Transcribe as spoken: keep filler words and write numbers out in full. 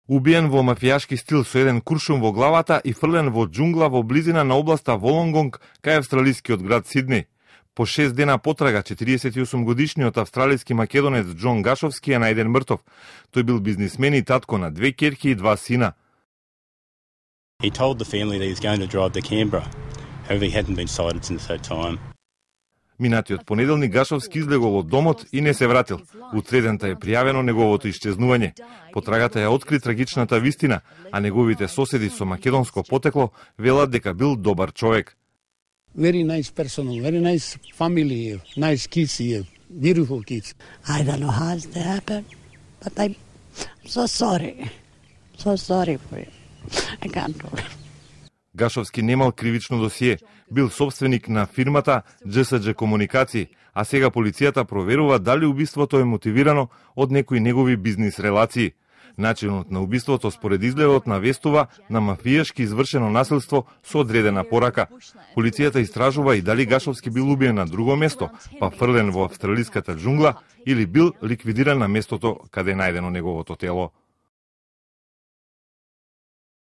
Убиен во мафијашки стил со еден куршум во главата и фрлен во џунгла во близина на областа Волонгонг, кај австралискиот град Сиднеј. По шест дена потрага, четириесет и осум годишниот австралиски македонец Џон Гашовски е најден мртов. Тој бил бизнисмен и татко на две ќерки и два сина. He told the family that he was going to drive to Canberra. However, he hadn't been sighted since that time. Минатиот понеделник Гашовски излегол од домот и не се вратил. Утредента е пријавено неговото исчезнување. Потрагата ја откри трагичната вистина, а неговите соседи со македонско потекло велат дека бил добар човек. Very nice person, very nice family, nice kids here, beautiful kids. I don't know how it happened, but I'm so sorry. So sorry for you. I can't do it. Гашовски немал кривично досие, бил собственик на фирмата Џ С Џ Комуникации, а сега полицијата проверува дали убиството е мотивирано од некои негови бизнис релации. Начинот на убиството според изгледот навестува на мафијашки извршено насилство со одредена порака. Полицијата истражува и дали Гашовски бил убиен на друго место, па фрлен во австралиската џунгла, или бил ликвидиран на местото каде е најдено неговото тело.